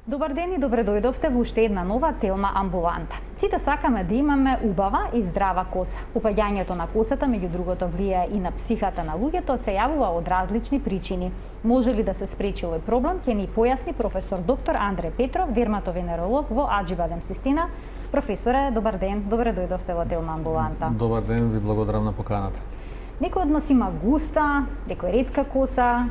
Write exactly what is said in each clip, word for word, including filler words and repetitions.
Добар ден и добре дојдовте во уште една нова Телма амбуланта. Сите сакаме да имаме убава и здрава коса. Упаѓањето на косата, меѓу другото, влијае и на психата на луѓето, се јавува од различни причини. Може ли да се спречи овој проблем, ќе ни појасни професор доктор Андре Петров, дерматовенеролог во Аџибадем Систина. Професоре, добар ден, добре дојдовте во Телма амбуланта. Добар ден, ви благодарам на поканата. Некој од нас има густа, некој ретка коса,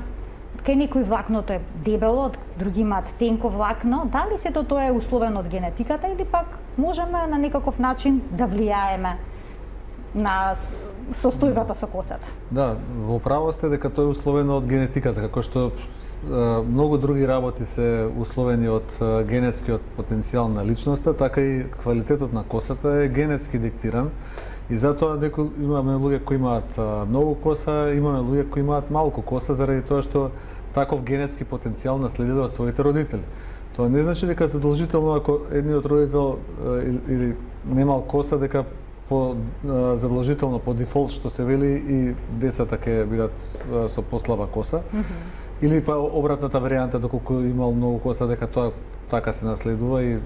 кај некој влакното е дебело, други имаат тенко влакно. Дали сето тоа е условено од генетиката или пак можеме на некаков начин да влијаеме на состојбата со косата? Да, во право сте дека тоа е условено од генетиката, како што е, многу други работи се условени од е, генетскиот потенцијал на личноста, така и квалитетот на косата е генетски диктиран. И затоа некои имаме луѓе кои имаат многу коса, имаме луѓе кои имаат малку коса заради тоа што таков генетски потенцијал наследиле од своите родители. Тоа не значи дека задолжително ако едниот родител или немал коса дека по задолжително по дефолт што се вели и децата ќе бидат со послаба коса. Mm -hmm. Или па обратната варијанта, доколку имал многу коса дека тоа така се наследува и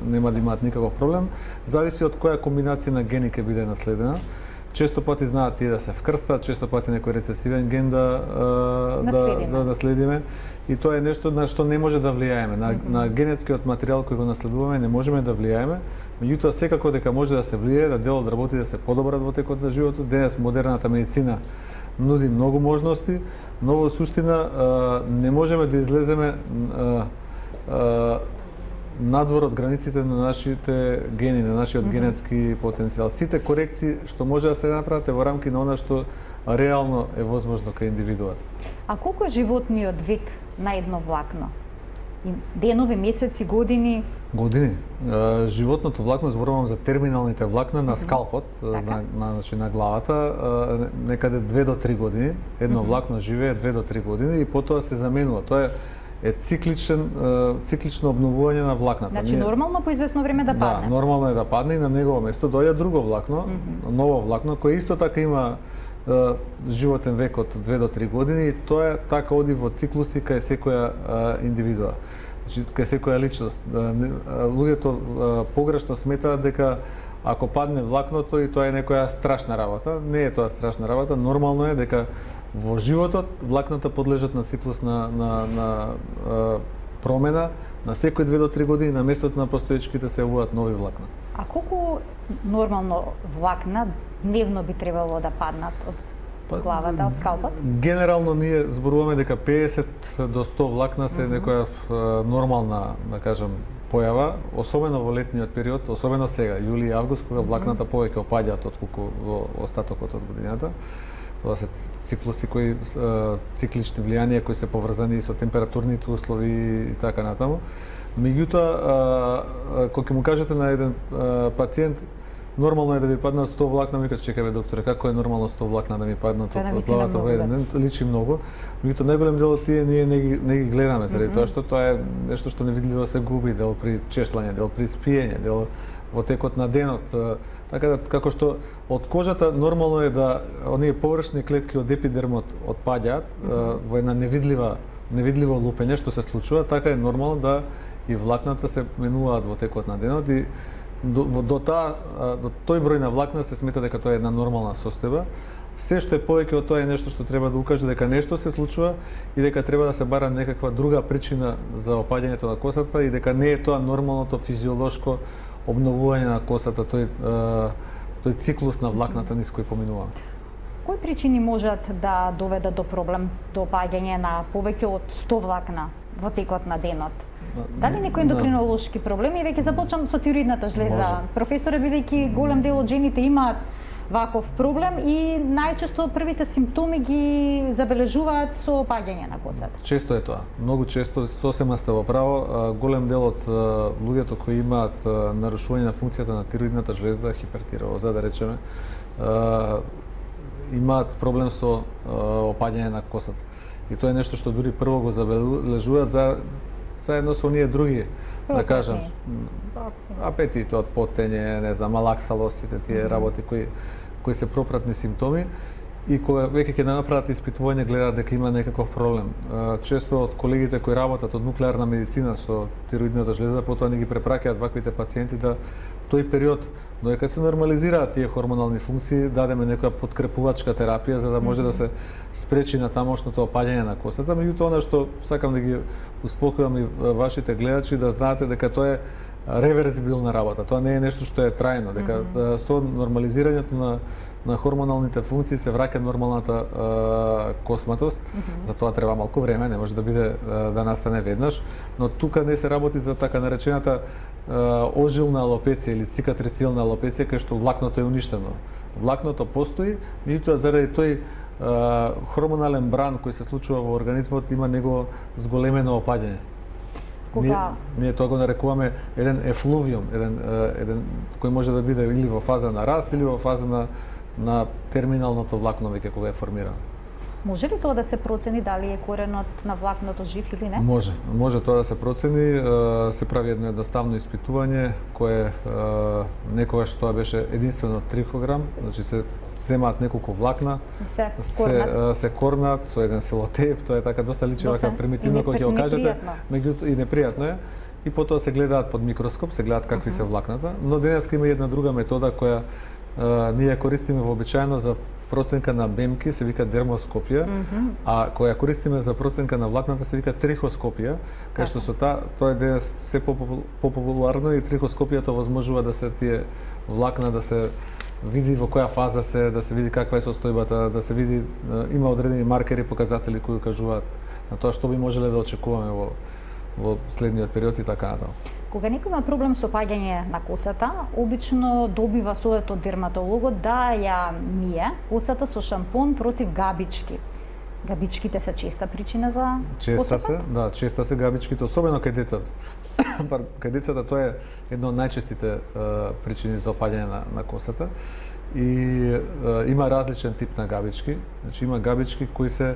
нема да имаат никаков проблем. Зависи од која комбинација на гени ќе биде наследена. Често пати знаат тие да се вкрстат, често пати некој рецесивен ген да да да наследиме. И тоа е нешто на што не може да влијаеме. На, mm -hmm. на генетскиот материјал кој го наследуваме не можеме да влијаеме. Меѓутоа секако дека може да се влијае, да дел од работи да се подобрат во текот на животот. Денес модерната медицина нуди многу можности, но во суштина не можеме да излеземе надвор од границите на нашите гени, на нашиот mm -hmm. генетски потенцијал. Сите корекции што може да се направат е во рамки на она што реално е возможно кај индивидуат. А колку е животниот век на едно влакно? Денови, месеци, години? Години. Животното влакно, зборувам за терминалните влакна на скалпот, mm -hmm. на, на, значи, на главата, некаде две до три години. Едно mm -hmm. влакно живее две до три години и потоа се заменува. Тоа е е цикличен циклично обновување на влакната. Значи Ние... нормално по известно време да падне. Да, нормално е да падне и на негово место доаѓа друго влакно, mm -hmm. ново влакно кое исто така има е, животен век од две до три години и тоа е така оди во циклуси кај секоја е, индивидуа. Значи кај секоја личност. Луѓето погрешно сметаат дека ако падне влакното и тоа е некоја страшна работа, не е тоа страшна работа, нормално е дека во животот влакната подлежат на циклус на, на, на а, промена, на секој две до три години на местото на постоечките се јавуваат нови влакна. А колку нормално влакна дневно би требало да паднат од главата, од скалпот? Генерално ние зборуваме дека педесет до сто влакна се mm -hmm. некоја а, нормална, да кажам, појава, особено во летниот период, особено сега, јули и август, кога влакната повеќе опаѓаат отколку во остатокот од годината. Тоа се циклуси кои циклични влијанија кои се поврзани со температурните услови и така натаму. Меѓутоа, кога ќе му кажете на еден пациент нормално е да ви паднат сто влакна, ми кажа чекајте докторе, како е нормално сто влакна да ми паднат од главата во еден ден? Личи многу. Меѓутоа најголем дел од тие ние не ги, не ги гледаме заради mm -hmm. тоа што тоа е нешто што невидливо се губи, дел при чешлање, дел при спиење, дел во текот на денот. Така да, како што од кожата нормално е да оние површни клетки од епидермот отпаѓаат mm -hmm. во една невидлива невидливо лупење што се случува, така е нормално да и влакната се менуваат во текот на денот и до, до, та, до тој број на влакна се смета дека тоа е една нормална состојба. Се што е повеќе од тоа е нешто што треба да укаже дека нешто се случува и дека треба да се бара некаква друга причина за опаѓањето на косата и дека не е тоа нормалното физиолошко обновување на косата, тој тој циклус на влакната низ кој поминуваме. Кои причини можат да доведат до проблем до опаѓање на повеќе од сто влакна во текот на денот? Дали некои ендокринолошки проблеми? Веќе започнам со тироидната жлеза. Може. Професоре, бидејќи голем дел од жените имаат ваков проблем и најчесто првите симптоми ги забележуваат со опаѓање на косата. Често е тоа. Многу често, сосема сте во право, голем дел од луѓето кои имаат нарушување на функцијата на тироидната жлеза, хипертироза, да речеме, имаат проблем со опаѓање на косата. И тоа е нешто што дури прво го забележуваат за заедно со оние други, да кажам, апетитот, потење, не знам, малаксалос, сите тие работи кои кои се пропратни симптоми и кога веќе ќе направат испитување гледаат дека има некаков проблем. Често од колегите кои работат од нуклеарна медицина со тироидната жлеза, потоа ни ги препраќаат ваквите пациенти да тој период додека се нормализираат тие хормонални функции, дадеме некоја подкрепувачка терапија за да може да се спречи на тамошното опаѓање на косата. Меѓутоа, она што сакам да ги успокојам и вашите гледачи да знаете дека тоа е реверзибилна работа. Тоа не е нешто што е трајно, дека mm -hmm. со нормализирањето на на хормоналните функции се враќа нормалната е, косматост. Mm -hmm. За тоа треба малку време, не може да биде е, да настане веднаш, но тука не се работи за така наречената е, ожилна алопеција или цикатрицилна алопеција кај што влакното е уништено. Влакното постои, меѓутоа заради тој е, хормонален бран кој се случува во организмот има него зголемено опаѓање. Кога... Ние, ние тоа го нарекуваме еден ефлувиум, еден, еден кој може да биде или во фаза на раст или во фаза на на терминалното влакно веќе кога е формирано. Може ли тоа да се процени дали е коренот на влакното жив или не? Може, може тоа да се процени, се прави едно едноставно испитување кое некогаш тоа беше единствено трихограм, значи се земаат неколку влакна, се корнат, се, се корнат со еден селотейп, тоа е така доста личи вака примитивно кога ќе го кажете, меѓутоа и непријатно е. И потоа се гледаат под микроскоп, се гледаат какви uh -huh. се влакната, но денеска има една друга метода која Uh, ние ја користиме вообичаено за проценка на бемки, се вика дермоскопија, mm -hmm. а која ја користиме за проценка на влакната се вика трихоскопија, кај што со та, тоа е денес се популарно и трихоскопијата возможува да се тие влакна да се види во која фаза се, да се види каква е состојбата, да се види uh, има одредени маркери, показатели кои кажуваат на тоа што би можеле да очекуваме во во следниот период и така натаму. Кога некој има проблем со опаѓање на косата, обично добива совет од дерматологот да ја мие косата со шампон против габички. Габичките се честа причина за честа косата? се, да, честа се габичките, особено кај децата. Кај децата тоа е една од најчестите е, причини за опаѓање на, на косата. И е, има различен тип на габички. Значи има габички кои се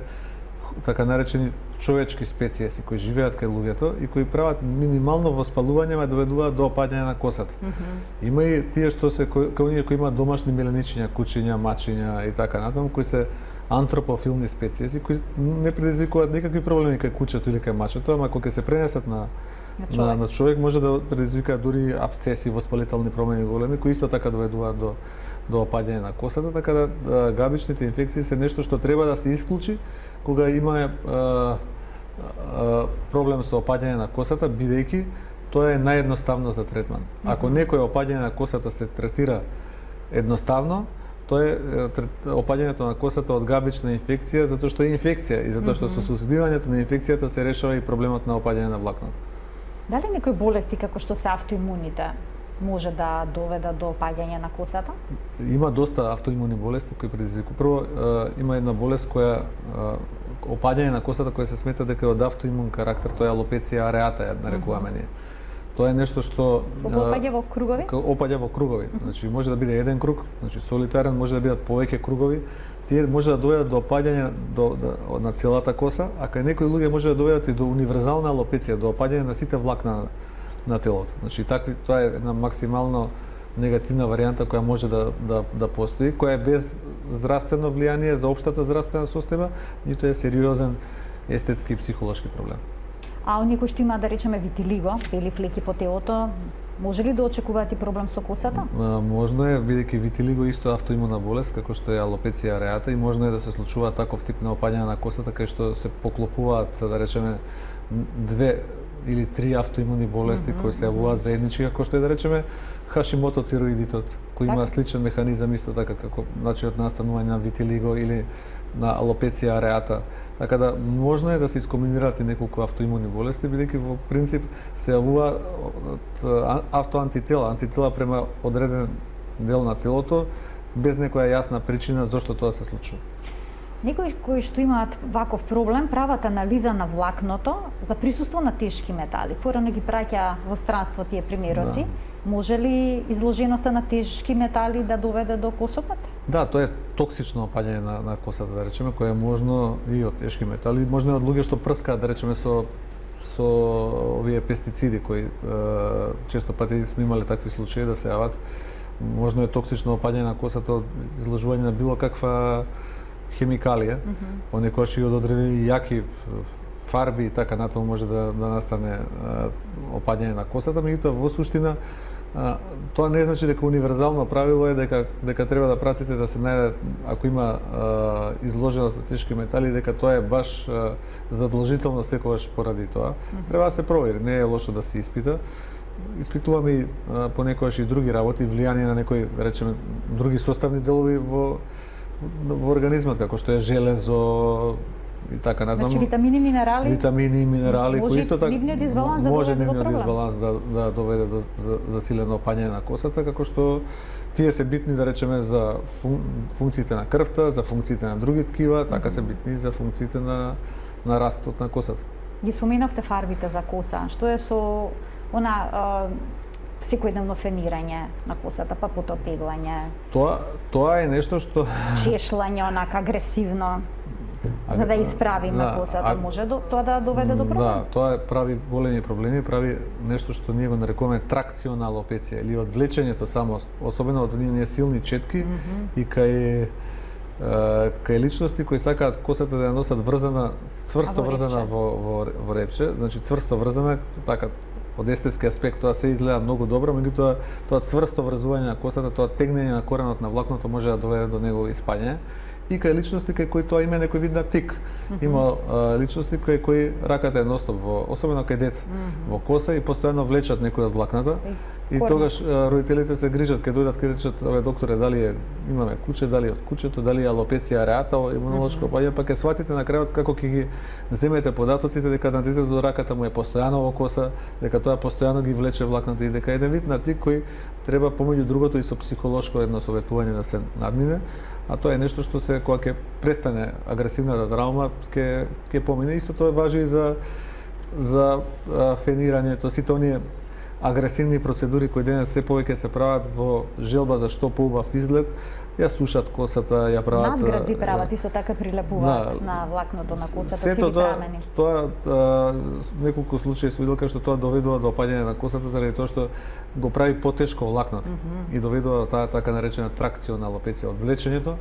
така наречени човечки специјеси кои живеат кај луѓето и кои прават минимално воспалување, ма доведуваат до опаѓање на косата. Mm -hmm. Има и тие што се кај оние кои имаат домашни меленичиња, кучиња, мачиња и така натаму, кои се антропофилни специјеси кои не предизвикуваат никакви проблеми кај кучето или кај мачето, ама кога се пренесат на на човек, на, на човек може да предизвикаат дури абсцеси, воспалителни промени големи кои исто така доведуваат до до опаѓање на косата, така да, да габичните инфекции се нешто што треба да се исклучи кога има е, е, проблем со опаѓање на косата, бидејќи тоа е наједноставно за третман. Ако некој опаѓање на косата се третира едноставно, тоа е опаѓањето на косата од габична инфекција, затоа што е инфекција и затоа што со сузбивањето на инфекцијата се решава и проблемот на опаѓање на влакното. Дали некои болести како што се автоимуните може да доведат до опаѓање на косата? Има доста автоимуни болести кои предизвикуваат. Прво има една болест која опаѓање на косата која се смета дека е од автоимун карактер, тоа е алопеција ареата, ја нарекуваме ние. Тоа е нешто што опаѓа во кругови? Опаѓа во кругови. Значи може да биде еден круг, значи солитарен, може да бидат повеќе кругови. Тие може да доведат до опаѓање до, до на целата коса, а кај некои луѓе може да доведат и до универзална алопеција, до опаѓање на сите влакна на, на телото. Значи такви тоа е една максимално негативна варијанта која може да да да постои, која е без здравствено влијание за општата здравствена состојба, ниту е сериозен естетски и психолошки проблем. А оние кои што имаат, да речеме, витилиго, бели флеки по телото, може ли да очекуваат и проблем со косата? А, можно е, бидејќи витилиго исто автоимуна болест, како што е алопеција ареата, и можно е да се случува таков тип на опаѓање на косата, кај што се поклопуваат, да речеме, две или три автоимуни болести mm -hmm, кои се јавуваат заеднички, како што е, да речеме, Хашимото тироидитот, кој има сличен механизам исто така како начинот на настанување на витилиго или на алопеција ареата. Така да можно е да се искомбинираат и неколку автоимуни болести, бидејќи во принцип се јавува од автоантитела, антитела према одреден дел на телото, без некоја јасна причина зошто тоа се случува. Некои кои што имаат ваков проблем прават анализа на влакното за присуство на тешки метали. Порано ги праќа во странство тие примероци. Да. Може ли изложеноста на тешки метали да доведе до косопат? Да, тоа е токсично опаѓање на, на косата, да речеме, кое е можно и од тешки метали, можно и од луѓе што прскаат, да речеме, со со овие пестициди кои е, често пати сме имале такви случаи да се јават. Можно е токсично опаѓање на косата од изложување на било каква хемикалија, mm -hmm. понекогаш и од одредени јаки фарби и така натаму може да, да настане а, опаѓање на косата, меѓутоа во суштина а, тоа не значи дека универзално правило е дека дека треба да пратите да се најде, ако има а, изложеност на тешки метали, дека тоа е баш а, задолжително секогаш поради тоа. Mm -hmm. Треба да се провери, не е лошо да се испита. Испитуваме и а, понекогаш и други работи, влијание на некои, да речеме, други составни делови во во организмот, како што е железо и така натаму. Значи витамини, минерали. Витамини и минерали кои исто така нивниот дисбаланс да може доведе до нивниот дисбаланс да да доведе до засилено опаѓање на косата, како што тие се битни, да речеме, за фун, функциите на крвта, за функциите на други ткива, така се битни за функциите на на растот на косата. Ги споменавте фарбите за коса. Што е со она а, секојдневно фенирање на косата, па потоа пеглање? Тоа тоа е нешто што чешлање онака агресивно. За да исправиме на косата, а, може до, тоа да доведе до проблем? Да, тоа прави големи проблеми, прави нешто што ние го нарекуваме тракциона алопеција или одвлечењето само, особено од оние силни четки mm -hmm. и кај кај личности кои сакаат косата да ја носат врзана, цврсто врзана во, во, во репче, значи цврсто врзана, така од естетски аспект тоа се изгледа многу добро, меѓутоа тоа цврсто врзување на косата, тоа тегнење на коренот на влакното може да доведе до негово испаѓање. И кај личности кај кои тоа има некој вид на тик. Mm -hmm. Има а, личности кај кои раката е ностоп во, особено кај деца, mm -hmm. во коса и постојано влечат некој од влакната. И, и тогаш а, родителите се грижат кај дојдат кај речат, абе докторе, дали е имаме куче, дали од кучето, дали е алопеција ареата, имунолошко опаѓање, па ќе сватите на крајот како ќе ги земете податоците дека на детето раката му е постојано во коса, дека тоа постојано ги влече влакната и дека еден вид на тик кој треба помеѓу другото и со психолошко едно советување да се надмине. А тоа е нешто што се кога ќе престане агресивната травма, ќе ќе помине. Исто тоа важи и за за а, фенирањето, сите оние агресивни процедури кои денес се повеќе се прават во желба за што поубав изглед, ја сушат косата, ја прават надгради прават, исто така прилепуваат на, на влакното на косата, цели прамени. Тоа, тоа неколку случаи се видел што тоа доведува до опаѓање на косата заради тоа што го прави потешко влакното mm -hmm. и доведува до таа така наречена тракциона алопеција, одвлечењето.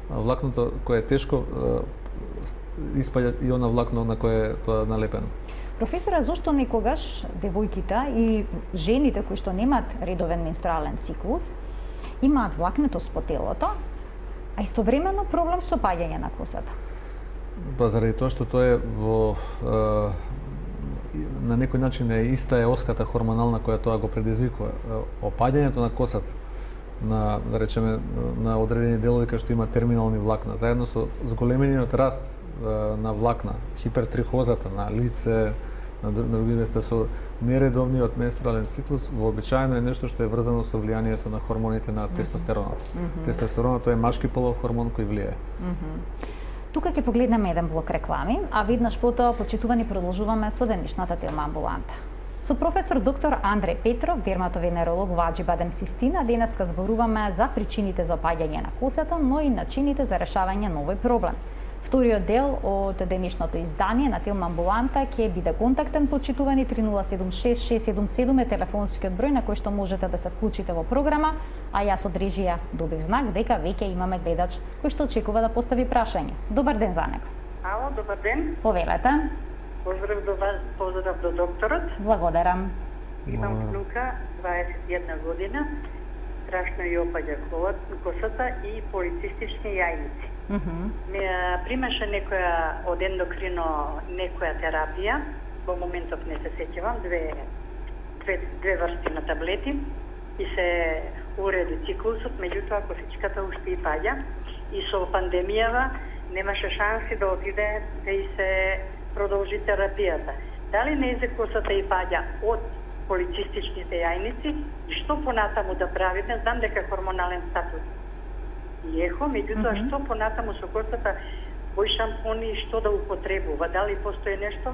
Влакното кое е тешко испаѓа и она влакно на кое е тоа налепено. Професоре, зошто некогаш девојките и жените кои што немаат редовен менструален циклус имаат влакнетост по телото, а истовремено проблем со опаѓање на косата? Па заради тоа што тоа е во е, на некој начин е иста е оската хормонална која тоа го предизвикува. Опаѓањето на косата на, да речеме, на одредени делови кај што има терминални влакна, заедно со зголемениот раст е, на влакна, хипертрихозата на лице, на други места со нередовниот менструален циклус, вообичаено е нешто што е врзано со влијанието на хормоните на тестостеронот. Mm -hmm. Тестостеронот е машки полов хормон кој влијае. Mm -hmm. Тука ќе погледнеме еден блок реклами, а веднаш потоа, почитувани, продолжуваме со денешната тема амбуланта. Со професор доктор Андреј Петров, дерматовенеролог во Аџибадем Систина, денеска зборуваме за причините за опаѓање на косата, но и начините за решавање на овој проблем. Вториот дел од денешното издание на Телма амбуланта ќе биде контактен, почитувани, три нула седум шест шест седум седум е телефонскиот број на кој што можете да се вклучите во програма, а јас од режија добив знак дека веќе имаме гледач кој што очекува да постави прашање. Добар ден за него. Ало, добар ден. Повелете. Поздрав до вас, поздрав до докторот. Благодарам. Имам внука, дваесет и една година, страшно ја опаѓа косата и полицистични јајници. Mm -hmm. Ме примаше некоја од ендокрино некоја терапија, во моментов не се сеќавам, две, две, две врсти на таблети и се уреди циклусот, меѓутоа косичката уште и паѓа и со пандемијава немаше шанси да отиде да и се продолжи терапијата. Дали не е косата и паѓа од полицистичните јајници и што понатаму да правиме? Знам дека хормонален статус и ехо, меѓутоа mm -hmm. што понатаму со косата, кои шампони и што да употребува? Дали постои нешто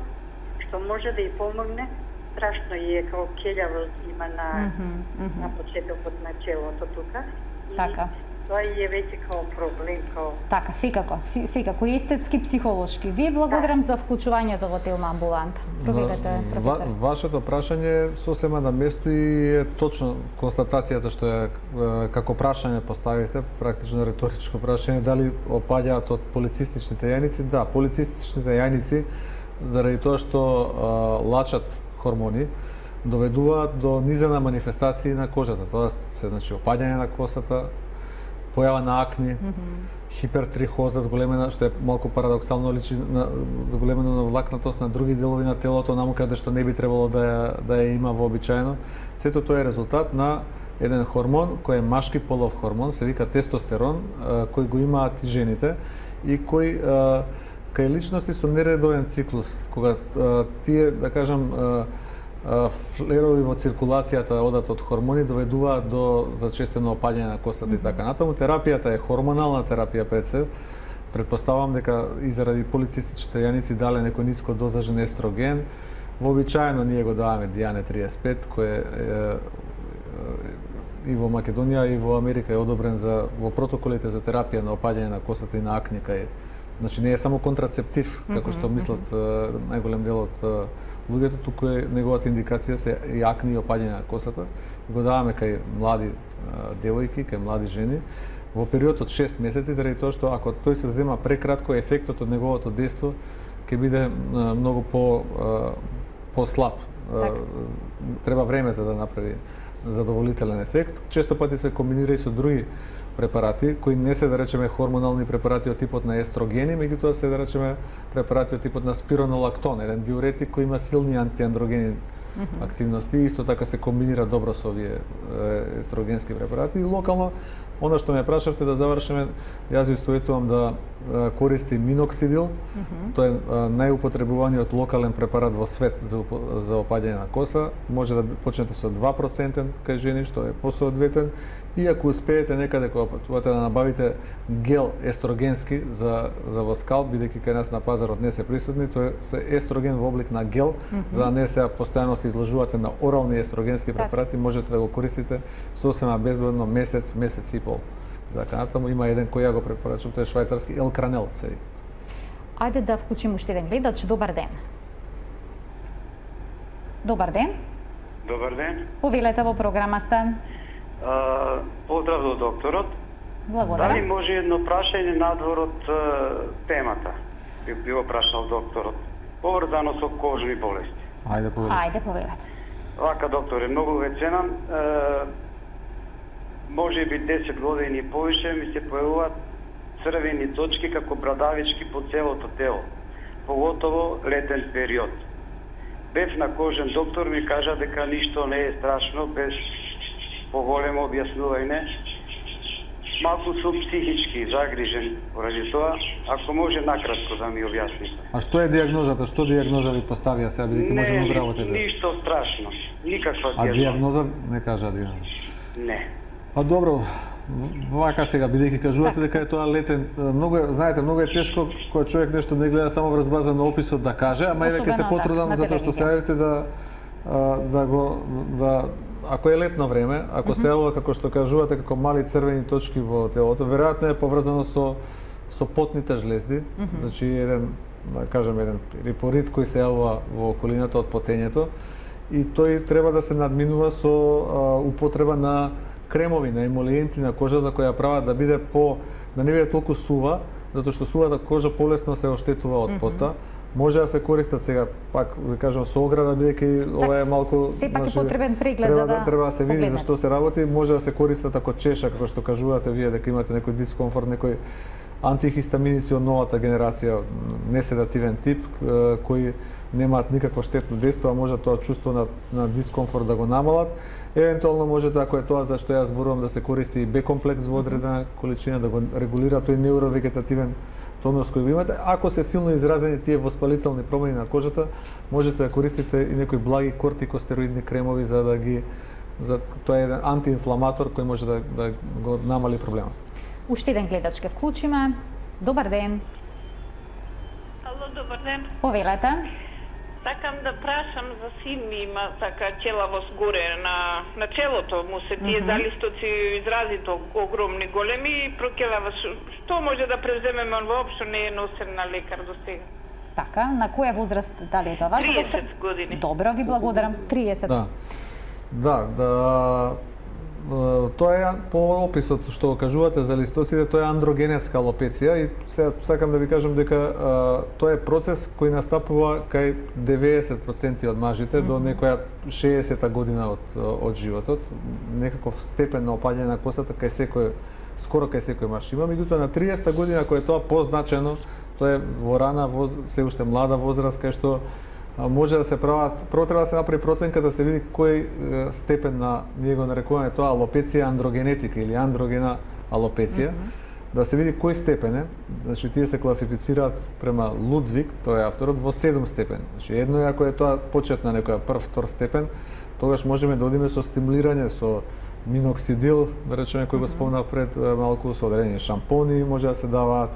што може да и помогне? Страшно е како келјавост има на, mm -hmm. на почетокот на челото тука. Така. тоа е веќе као проблем, као... Така, секако, секако и естетски, психолошки. Ви благодарам за вклучувањето во Телма амбуланта. Проведете, професор. Ва, вашето прашање сосема на место и е точно констатацијата што е како прашање поставивте, практично реторичко прашање, дали опаѓаат од полицистичните јајници? Да, полицистичните јајници, заради тоа што а, лачат хормони, доведуваат до низена манифестации на кожата. Тоа се значи опаѓање на косата, појава на акни, mm -hmm. хипертрихоза, зголемена, што е малку парадоксално, личи на зголемено на влакнатост на други делови на телото, наму каде што не би требало да ја, да ја има вообичаено. Сето тоа е резултат на еден хормон кој е машки полов хормон, се вика тестостерон, кој го имаат и жените и кој кај личности со нередовен циклус, кога тие, да кажам, флерови во циркулацијата одат од хормони доведуваат до зачестено опаѓање на костата mm -hmm. и така натаму. Терапијата е хормонална терапија пред се. Предпоставам дека и заради полицистичните јаници дале некој ниско дозажен естроген. Вообичаено ние го даваме Диане триесет и пет, кој е, е, е и во Македонија и во Америка е одобрен за во протоколите за терапија на опаѓање на костата и на акни, кај значи не е само контрацептив, како што мислат најголем дел од луѓето, туку е неговата индикација се и акни и опаѓање на косата. И го даваме кај млади девојки, кај млади жени во период од шест месеци, заради тоа што ако тој се зема прекратко, ефектот од неговото дејство ќе биде многу по послаб. Треба време за да направи задоволителен ефект. Често пати се комбинира и со други препарати, кои не се, да речеме, хормонални препарати од типот на естрогени, меѓутоа се, да речеме, препарати од типот на спиронолактон, еден диуретик кој има силни антиандрогени mm -hmm. активности, исто така се комбинира добро со овие естрогенски препарати. И локално, она што ме прашавте да завршиме, јас ви советувам да користи миноксидил, mm -hmm. тоа е најупотребуваниот локален препарат во свет за, за опаѓање на коса. Може да почнете со два проценти кај жени, што е посоодветен, и ако успеете некаде кога патувате да набавите гел естрогенски за за во скалп, бидејќи кај нас на пазарот не се присутни, тоа е естроген во облик на гел, mm -hmm. за да не се постојано се изложувате на орални естрогенски препарати, можете да го користите сосема безбедно месец, месец и пол. Така натаму има еден кој ја го препорачувам, тој е швајцарски Елкранел се вика. Ајде да вклучиме уште еден гледач. Добар ден. Добар ден. Добар ден. Повелете, во програма сте. Uh, поздрав до докторот. Благодарам. Дали може едно прашање надвор од uh, темата? Би било прашал докторот. Поврзано со кожни болести. Ајде повелете. Ајде повелете. Вака, докторе, многу ве ценам. Uh, може би десет години и повише ми се појавуваат црвени точки како брадавички по целото тело, поготово летен период. Бев на кожен доктор, ми кажа дека ништо не е страшно, без поголемо објаснување. Малку сум психички загрижен поради тоа, ако може накратко да ми објасните. А што е диагнозата? Што диагноза ви поставија сега, бидејќи можеме да работите? Не, ништо страшно, никаква диагноза. А диагноза не кажа диагноза? Не. А добро, вака сега, бидејќи кажувате дека е тоа летен, многу е, знаете, многу е тешко кога човек нешто не гледа само врз база на описот да каже, ама еве ќе се потрудам затоа што се јавите да да го да ако е летно време, ако mm -hmm. се јавува како што кажувате како мали црвени точки во телото, веројатно е поврзано со со потните жлезди, mm -hmm. значи еден, да кажем, еден рипорит кој се јавува во околината од потењето и тој треба да се надминува со а, употреба на кремови, на емолиенти на кожата која прават да биде по да не биде толку сува, затоа што сувата кожа полесно се оштетува од пота. Mm -hmm. Може да се користат сега, пак ви кажам, со ограда, бидејќи ова е малку... Сепак е потребен преглед треба за да... Треба да се види за што се работи, може да се користат ако чеша, како што кажувате вие, дека имате некој дискомфорт, некој антихистаминици од новата генерација, неседативен тип, кои немаат никакво штетно дејство, а може тоа чувство на, на дискомфорт да го намалат. Евентуално можете, ако е тоа за што јас зборувам, да се користи и Б-комплекс во одредена количина, да го регулира тој невровегетативен тонус кој го имате. Ако се силно изразени тие воспалителни промени на кожата, можете да користите и некои благи кортикостероидни кремови за да ги за тоа е еден антиинфламатор кој може да да го намали проблемот. Уште еден гледач ке вклучиме. Добар ден. Ало, добар ден. Повелете. Сакам да прашам за син ми, има така челавост горе на на челото му се тие mm -hmm. залистоци изразито огромни, големи и прокелавост. Што може да преземеме, он воопшто не е носен на лекар до сега. Така, на која возраст, дали е тоа важно, доктор? триесет години. Добро, ви благодарам. триесет. Да. Да, да. Тоа е по описот што го кажувате за листоците, тоа е андрогенетска алопеција и се сакам да ви кажам дека а, тоа е процес кој настапува кај деветдесет проценти од мажите mm -hmm. до некоја шеесета година од од животот, некаков степен на опаѓање на косата кај секој, скоро кај секој маж. Има меѓутоа на триесета година кој е тоа позначено, тоа е во рана воз, се уште млада возраст кај што може да се прават, прво треба да се направи проценка да се види кој степен на, ние го нарекуваме тоа алопеција андрогенетика или андрогена алопеција, mm -hmm. да се види кој степен е. Значи тие се класифицираат према Лудвиг, тој е авторот, во седум степени. Значи едно е ако е тоа почет на некоја прв, втор степен, тогаш можеме да одиме со стимулирање со миноксидил, да речеме кој го спомнав пред малку, со одредени шампони може да се даваат.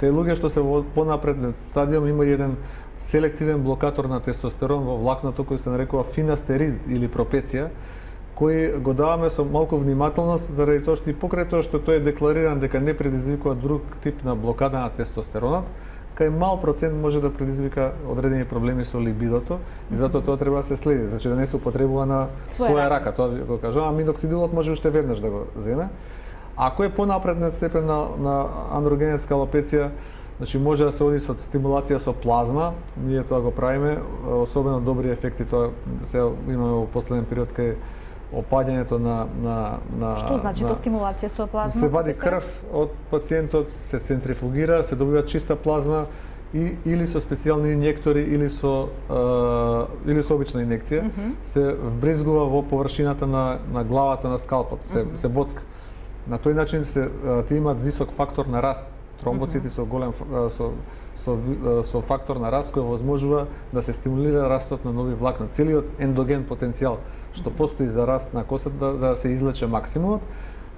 Кај луѓе што се во понапреден стадиум има еден селективен блокатор на тестостерон во влакното кој се нарекува финастерид или пропеција, кој го даваме со малку внимателност заради тоа што и покрај тоа што тој е деклариран дека не предизвикува друг тип на блокада на тестостеронот, кај мал процент може да предизвика одредени проблеми со либидото и затоа тоа треба да се следи, значи да не се употребува на своја рака, тоа го кажувам, а миноксидилот може уште веднаш да го земе. Ако е понапредна степен на, на андрогенетска алопеција, значи може да се оди со стимулација со плазма, ние тоа го правиме, особено добри ефекти тоа се имаме во последен период кај опаѓањето на на на Што значи на, тоа стимулација со плазма? Се вади крв од пациентот, се центрифугира, се добива чиста плазма и или со специјални инјектори или со е, или со обична инекција, mm -hmm. се вбризгува во површината на на главата на скалпот, се mm -hmm. се боцка. На тој начин се тие имаат висок фактор на раст. Тромбоцити со голем со со со фактор на раст кој возможува да се стимулира растот на нови влакна, целиот ендоген потенцијал што постои за раст на косата да, да се излече максимумот.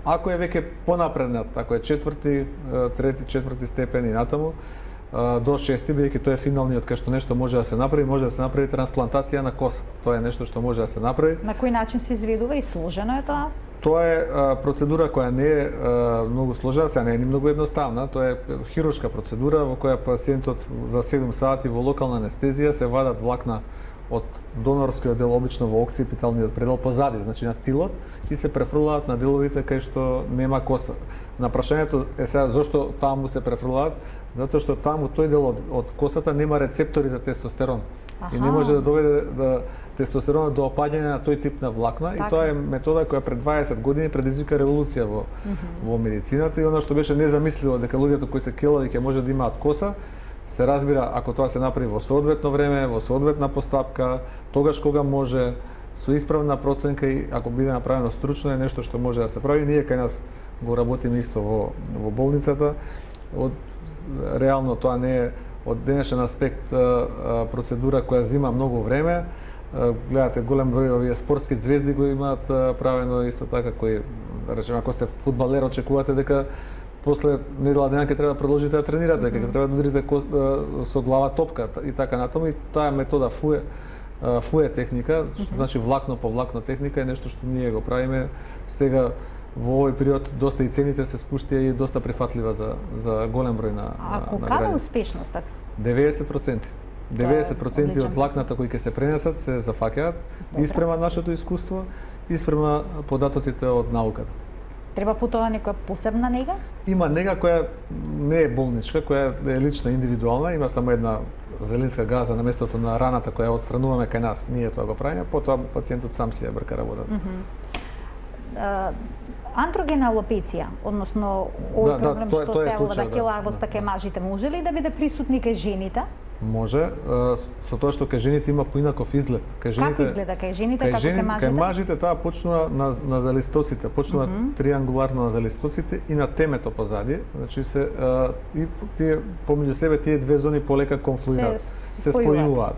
Ако е веќе понапреднат, ако е четврти, трети, четврти степен и натаму до шести, бидејќи тоа е финалниот кај што нешто може да се направи, може да се направи трансплантација на коса. Тоа е нешто што може да се направи. На кој начин се изведува и сложено е тоа? Тоа е а, процедура која не е а, многу сложена, сега не е ни многу едноставна. Тоа е хируршка процедура во која пациентот за седум сати во локална анестезија се вадат влакна од донорскиот дел, обично во окципиталниот предел позади, значи на тилот, и се префрлаат на деловите кај што нема коса. На прашањето е сега зошто таму се префрлаат, затоа што таму тој дел од, од косата нема рецептори за тестостерон. Аха. И не може да доведе да тестостеронот до опаѓање на тој тип на влакна, така. И тоа е метода која пред дваесет години предизвика револуција во mm -hmm. во медицината и она што беше незамисливо дека луѓето кои се келави ќе може да имаат коса, се разбира ако тоа се направи во соодветно време, во соодветна постапка, тогаш кога може, со исправна проценка и ако биде направено стручно е нешто што може да се прави. Ние кај нас го работиме исто во во болницата. Од реално тоа не е од денешен аспект процедура која зима многу време. Гледате голем број овие спортски звезди го имаат правено исто така, кои, да речеме, ако сте фудбалер, очекувате дека после недела дена ќе треба да продолжите да тренирате, дека ќе треба да удрите со глава топка и така натаму, и таа метода фуе фуе техника, што значи влакно по влакно техника, е нешто што ние го правиме сега. Во овој период доста и цените се спуштија и доста прифатлива за за голем број на А на колкава успешноста? деветдесет проценти. деветдесет проценти од влакната кои ќе се пренесат се зафаќаат и спрема нашето искуство и спрема податоците од науката. Треба по тоа некоја посебна нега? Има нега која не е болничка, која е лична, индивидуална, има само една зелинска газа на местото на раната која отстрануваме кај нас. Ние тоа го правиме, потоа пациентот сам си ја брка работата. Mm -hmm. Андрогена алопеција, односно овој да, проблем да, тоа, што тоа се ова да келавоста да, кај мажите, може ли да биде присутни кај жените? Може, со тоа што кај жените има поинаков изглед. Кај жените, как изгледа кај жените, како кај мажите? Кај мажите таа почнува на, на залистоците, почнува mm -hmm. триангуларно на залистоците и на темето позади, значи се а, и тие помеѓу себе тие две зони полека конфлуираат, се, се спојуваат.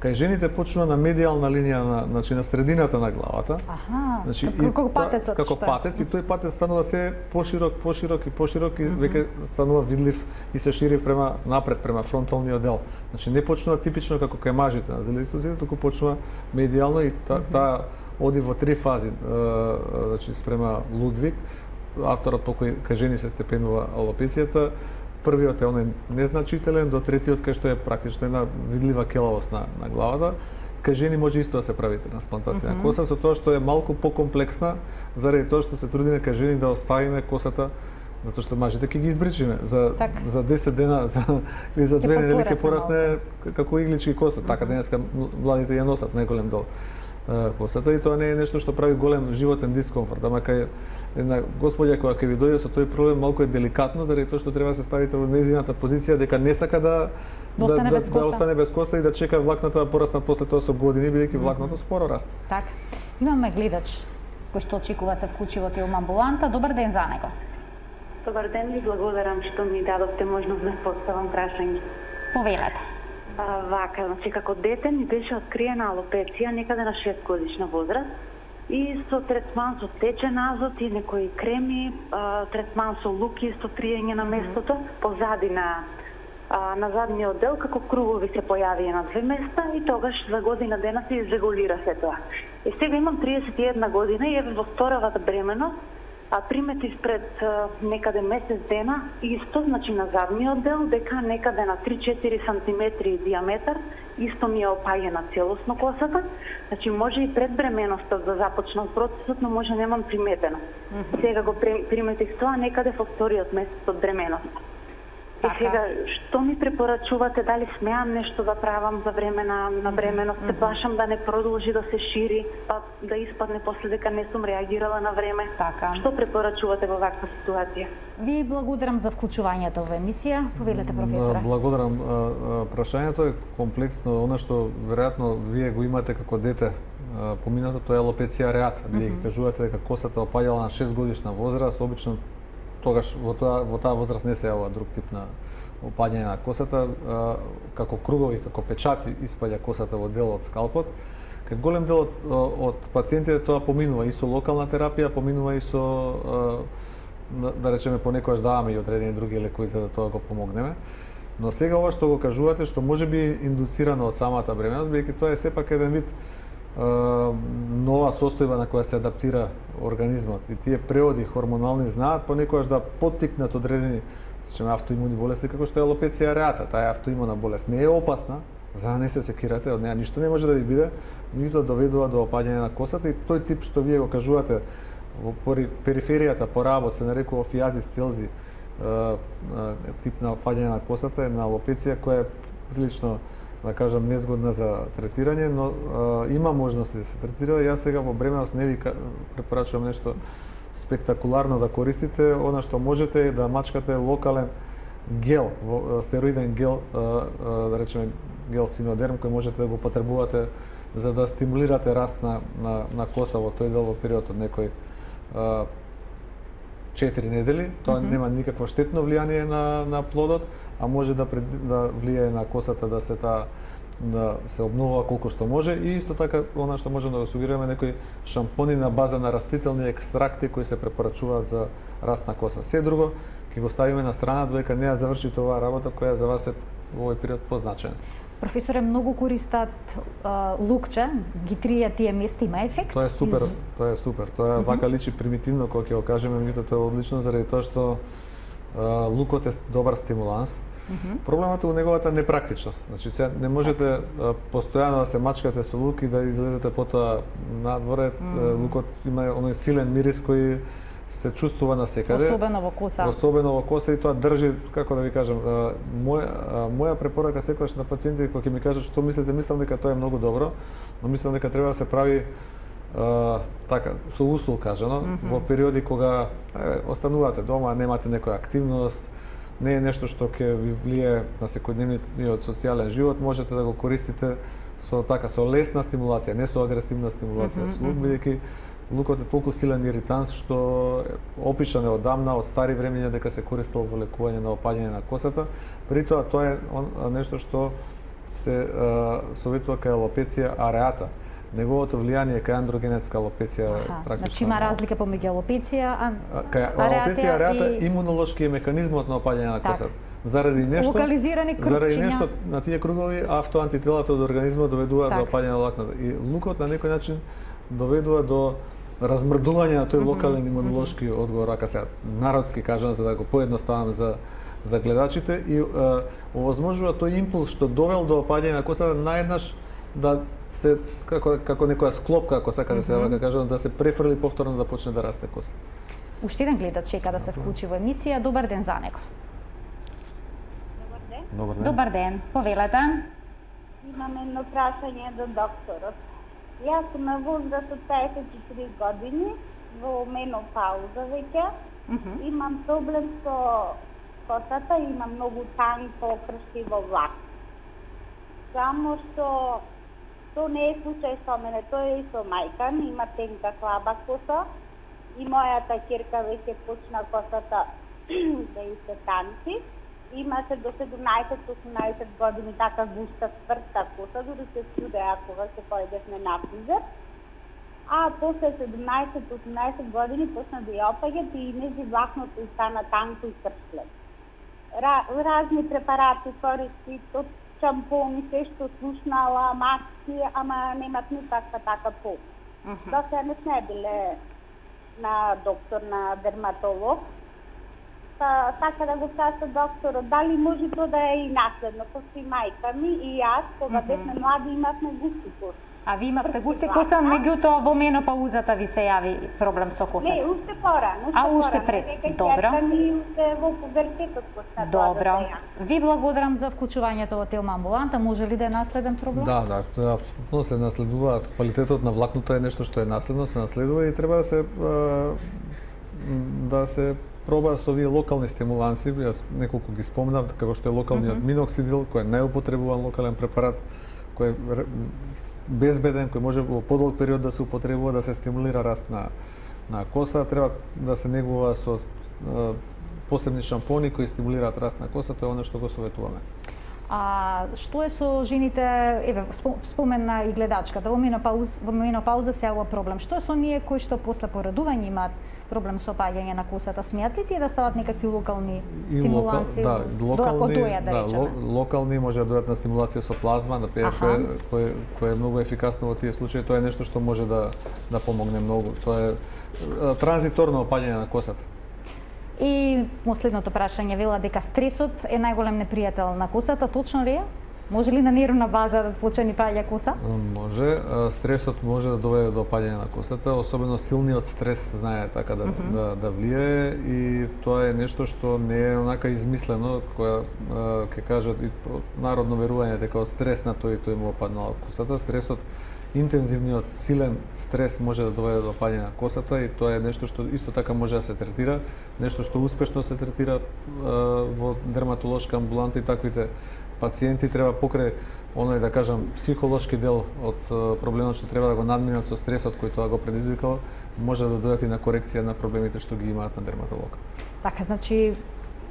Кај жените почнува на медијална линија, на, значи на средината на главата. Аха, значи, како патецот. Како патец, и тој патец станува се поширок, поширок и поширок и веќе станува видлив и се шири према напред, према фронталниот дел. Значи не почнува типично како кај мажите на зелистозите, туку почнува медијално и таа та оди во три фази. Значи спрема Лудвиг, авторот по кој кај жени се степенува алопецијата. Првиот е оној незначителен, до третиот кај што е практично една видлива келавост на, на главата. Кај жени може исто да се прави трансплантација mm -hmm. на коса, со тоа што е малку покомплексна, заради тоа што се трудиме кај жени да оставиме косата, затоа што мажите ќе ги избричиме за так. за десет дена, за или за две недели ќе порасне како иглички коса. Mm -hmm. Така денеска младите ја носат најголем дел косата и тоа не е нешто што прави голем животен дискомфорт, ама кај една господја која ќе ви дојде со тој проблем малку е деликатно, заради тоа што треба да се ставите во незината позиција дека не сака да да, остане, да, без да, да остане без коса и да чека влакната да порасна после тоа со години, бидејќи влакното споро расте. Така. Имаме гледач кој што очекува се вклучи во Телма амбуланта. Добар ден за него. Добар ден, ви благодарам што ми дадовте можност да поставам прашање. Повелете. А, вака, значи како дете ми беше откриена алопеција некаде на шест годишна возраст и со третман со течен азот и некои креми, а, третман со луки, со триење на местото, позади на а, на задниот дел како кругови се појавија на две места и тогаш за година дена се изрегулира се тоа. И сега имам триесет и една година и еве во вторавата бременост, а приметив пред а, некаде месец дена исто, значи на задниот дел, дека некаде на три-четири сантиметри диаметар, исто ми е опаѓена целосно косата. Значи може и пред бременоста да започнам процесот, но може немам приметено. Mm -hmm. Сега го приметив тоа некаде во вториот месец од бременоста. И сега, што ми препорачувате, дали смеам нешто да правам за време на, на бременост, се плашам да не продолжи да се шири, па да испадне после дека не сум реагирала на време. Така. Што препорачувате во ваква ситуација? Ви благодарам за вклучувањето во емисија. Повелете, професоре. Благодарам. Прашањето е комплексно, она што веројатно вие го имате како дете поминато, тоа е алопеција ареата. Вие mm -hmm. кажувате дека косата опаѓала на шест годишна возраст, обично тогаш во тоа во таа возраст не се јавува друг тип на опаѓање на косата, а, како кругови, како печати испаѓа косата во дел од скалпот. Кај голем дел од, од пациентите тоа поминува и со локална терапија, поминува и со а, да речеме понекогаш даваме и одредени други лекови за да тоа го помогнеме. Но сега ова што го кажувате, што може би индуцирано од самата бременост, бидејќи тоа е сепак еден вид нова состојба на која се адаптира организмот и тие преоди хормонални знаат понекогаш да поттикнат одредени речеме автоимуни болести како што е алопеција ареата. Таа автоимуна болест не е опасна, за да не се секирате, од неа ништо не може да ви биде, ниту доведува до опаѓање на косата и тој тип што вие го кажувате во периферијата по работ се нарекува фиазис целзи, тип на опаѓање на косата е на алопеција која е прилично да кажам незгодна за третирање, но а, има можности да се третира. Јас сега во бременост не ви препорачувам нешто спектакуларно да користите, она што можете е да мачкате локален гел, стероиден гел, а, а, да речеме гел синодерм кој можете да го потребувате за да стимулирате раст на, на, на коса во тој дел во период од некој а, четири недели. Тоа mm -hmm. нема никакво штетно влијание на, на плодот, а може да, пред, да влијае на косата да се та да се обновува колку што може и исто така она што можеме да го сугерираме некои шампони на база на растителни екстракти кои се препорачуваат за раст на коса. Се друго ќе го ставиме на страна додека не ја заврши оваа работа која за вас е во овој период позначена. Професоре, многу користат а, лукче, ги трија тие места, има ефект? Тоа е супер, Из... тоа е супер. Тоа е mm -hmm. вака личи примитивно кога ќе го кажеме, меѓутоа тоа е одлично заради тоа што а, лукот е добар стимуланс. Mm -hmm. Проблемот е у неговата непрактичност. Значи се не можете а, постојано да се мачкате со лук и да излезете потоа надворе. Mm -hmm. Лукот има оној силен мирис кој се чувствува на секаде. Особено во коса. Особено во коса и тоа држи, како да ви кажам, моја моја препорака секогаш на пациентите кога ќе ми кажат што мислите, мислам дека тоа е многу добро, но мислам дека треба да се прави а, така со усул кажано, mm -hmm. во периоди кога е, останувате дома, немате некоја активност, не е нешто што ќе ви влие на секојдневниот социјален живот, можете да го користите со така со лесна стимулација, не со агресивна стимулација, mm -hmm. со лук, бидејќи лукот е толку силен иританс што опишан е одамна од стари времења дека се користел во лекување на опаѓање на косата. При тоа тоа е нешто што се советува кај алопеција ареата. Неговото влијание кај андрогенетска алопеција е практично. Значи има разлика помеѓу алопеција, кај алопеција ареата и... имунолошки е механизмот на опаѓање на косата. Заради нешто, локализирани крупчиња. Заради нешто на тие кругови автоантителата од организмот доведуваат так. до опаѓање на влакната. И лукот на некој начин доведува до размрдување на тој локален имунолошки mm -hmm. одговор, ака сега народски кажам за да го поедноставам за за гледачите и е, овозможува тој импулс што довел до опаѓање на косата наеднаш да се како како некоја склопка, ако сака да се вака кажам, да се префрли повторно да почне да расте коса. Уште еден гледач чека да се вклучи во емисија. Добар ден за него. Добар ден. Добар ден. Добар ден. Повелете. Имам едно прашање до докторот. Јас сум на возраст од пеесет и три години, во менопауза веќе. Mm -hmm. Имам проблем со косата, имам многу танко кршливо влак. Само што тоа не е случај со мене, тоа е и со мајка ми, има тенка слаба коса и мојата ќерка веќе почна косата да и се танци. Имаше до седумнаесет до осумнаесет години така густа цврста коса, дори се чудеа кога се појдевме на фризер. А после седумнаесет до осумнаесет години почна да ја опаѓа и меѓу влакното и стана танко и кршлев. Разни препарати користи, од шампони, се што слушнала, маски, ама немат никаква така помош. Uh -huh. До сега не сме биле на доктор, на дерматолог. Та, така да го кажа докторот, дали може тоа да е и наследно, пошто и мајка ми и јас, кога uh -huh. бевме млади, имавме густи коси. А ви имавте густи коса, меѓутоа во менопаузата ви се јави проблем со косата? Не, уште порано. А уште пред, добро. Ми уште во пубертетот почна. Добро. Ви благодарам за вклучувањето во Телма амбуланта. Може ли да е наследен проблем? Да, да, тоа апсолутно се наследуваат. Квалитетот на влакното е нешто што е наследно, се наследува и треба да се да се проба со овие локални стимуланси. Јас неколку ги спомнав, како што е локалниот mm -hmm. миноксидил, кој е најупотребуван локален препарат, кој е безбеден, кој може во подолг период да се употребува да се стимулира раст на на коса, треба да се негува со а, посебни шампони кои стимулираат раст на коса, тоа е оно што го советуваме. А што е со жените, еве спомена и гледачката, во менопауза, во менопауза се јавува проблем. Што е со ние кои што после порадување имаат проблем со опаѓање на косата? Смеат ли тие да стават некакви локални стимуланси? Да, локални, доја, да, да, речеме? локални може да дојдат на стимулација со плазма, да пие, кој, кој, кој е многу ефикасно во тие случаи. Тоа е нешто што може да да помогне многу. Тоа е транзиторно опаѓање на косата. И последното прашање, вела дека стресот е најголем непријател на косата, точно ли е? Може ли на нервна база да почне ни паѓа коса? Може, стресот може да доведе до опаѓање на косата, особено силниот стрес знае така да, mm -hmm. да, да влијае и тоа е нешто што не е онака измислено, која ќе кажат и народно верување дека од стрес на тој и тој му опаднала косата. Стресот, интензивниот силен стрес може да доведе до опаѓање на косата и тоа е нешто што исто така може да се третира, нешто што успешно се третира во дерматолошка амбуланта и таквите пациенти треба покрај оној да кажам психолошки дел од проблемот што треба да го надминат со стресот кој тоа го предизвикал, може да дојдат и на корекција на проблемите што ги имаат на дерматолог. Така, значи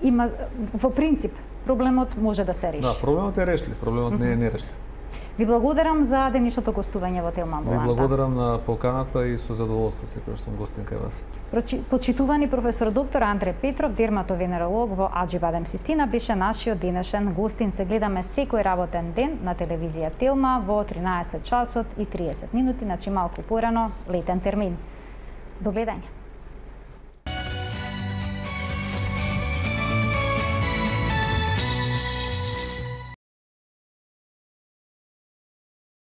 има во принцип проблемот може да се реши. Да, проблемот е решлив, проблемот mm -hmm. не е нерешлив. Ви благодарам за денешното гостување во Телма амбуланта. Ви благодарам на поканата и со задоволство секој што сум гостин кај вас. Почитувани професор доктор Андре Петров, дерматовенеролог во Аџибадем Систина, беше нашиот денешен гостин. Се гледаме секој работен ден на телевизија Телма во тринаесет часот и триесет минути, значи малку порано, летен термин. До гледање.